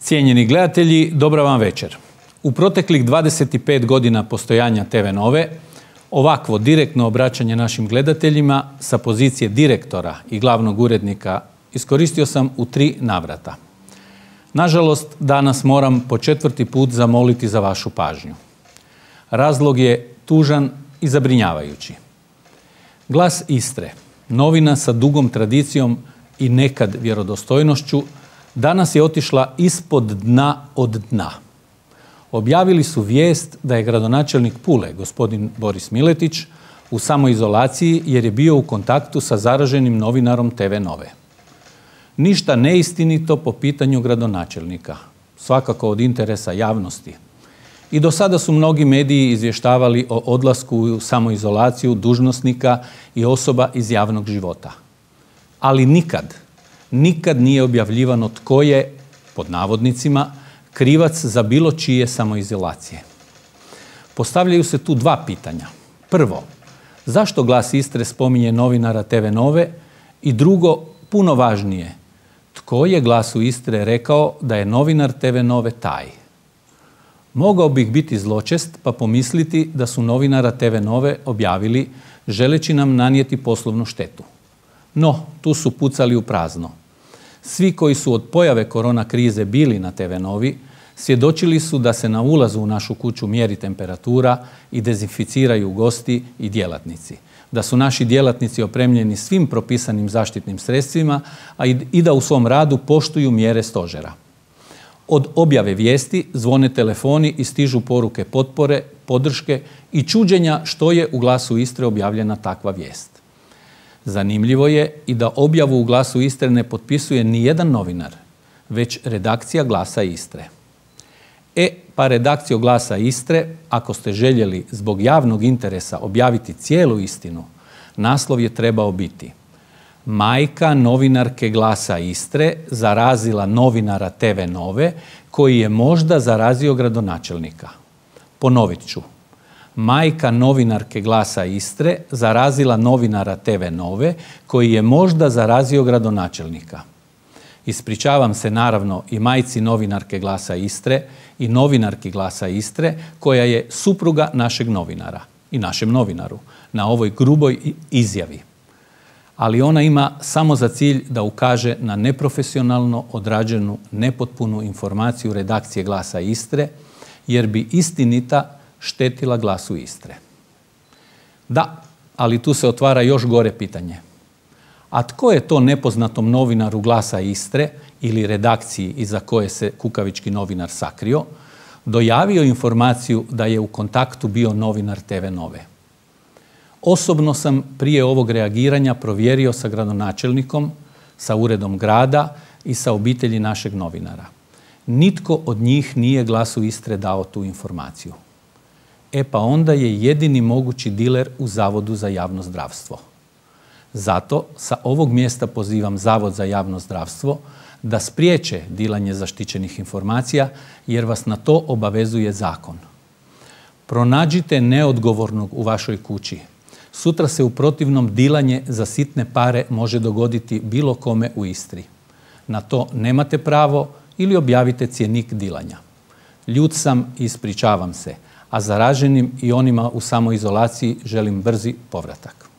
Cijenjeni gledatelji, dobra vam večer. U proteklih 25 godina postojanja TV Nove, ovakvo direktno obraćanje našim gledateljima sa pozicije direktora i glavnog urednika iskoristio sam u 3 navrata. Nažalost, danas moram po 4. put zamoliti za vašu pažnju. Razlog je tužan i zabrinjavajući. Glas Istre, novina sa dugom tradicijom i nekad vjerodostojnošću, danas je otišla ispod dna od dna. Objavili su vijest da je gradonačelnik Pule, gospodin Boris Miletić, u samoizolaciji jer je bio u kontaktu sa zaraženim novinarom TV Nove. Ništa neistinito po pitanju gradonačelnika, svakako od interesa javnosti. I do sada su mnogi mediji izvještavali o odlasku u samoizolaciju dužnosnika i osoba iz javnog života. Ali nikad nije objavljivano tko je, pod navodnicima, krivac za bilo čije samoizolacije. Postavljaju se tu 2 pitanja. Prvo, zašto Glas Istre spominje novinara TV Nove? I drugo, puno važnije, tko je Glasu Istre rekao da je novinar TV Nove taj? Mogao bih biti zločest pa pomisliti da su novinara TV Nove objavili želeći nam nanijeti poslovnu štetu. No, tu su pucali u prazno. Svi koji su od pojave korona krize bili na TV Novi svjedočili su da se na ulazu u našu kuću mjeri temperatura i dezinficiraju gosti i djelatnici. Da su naši djelatnici opremljeni svim propisanim zaštitnim sredstvima, a i da u svom radu poštuju mjere stožera. Od objave vijesti zvone telefoni i stižu poruke potpore, podrške i čuđenja što je u Glasu Istre objavljena takva vijest. Zanimljivo je i da objavu u Glasu Istre ne potpisuje ni jedan novinar, već redakcija Glasa Istre. Pa redakcijo Glasa Istre, ako ste željeli zbog javnog interesa objaviti cijelu istinu, naslov je trebao biti: Majka novinarke Glasa Istre zarazila novinara TV Nove koji je možda zarazio gradonačelnika. Ponovit ću. Majka novinarke Glasa Istre zarazila novinara TV Nove koji je možda zarazio gradonačelnika. Ispričavam se naravno i majci novinarke Glasa Istre i novinarki Glasa Istre koja je supruga našeg novinara i našem novinaru na ovoj gruboj izjavi. Ali ona ima samo za cilj da ukaže na neprofesionalno odrađenu, nepotpunu informaciju redakcije Glasa Istre, jer bi istinita štetila Glasu Istre. Da, ali tu se otvara još gore pitanje. A tko je to nepoznatom novinaru Glasa Istre ili redakciji iza koje se kukavički novinar sakrio, dojavio informaciju da je u kontaktu bio novinar TV Nove? Osobno sam prije ovog reagiranja provjerio sa gradonačelnikom, sa uredom grada i sa obitelji našeg novinara. Nitko od njih nije Glasu Istre dao tu informaciju. Pa onda je jedini mogući diler u Zavodu za javno zdravstvo. Zato sa ovog mjesta pozivam Zavod za javno zdravstvo da spriječe dilanje zaštićenih informacija jer vas na to obavezuje zakon. Pronađite neodgovornog u vašoj kući. Sutra se u protivnom dilanje za sitne pare može dogoditi bilo kome u Istri. Na to nemate pravo ili objavite cjenik dilanja. Ljut sam i ispričavam se, a zaraženim i onima u samoizolaciji želim brzi povratak.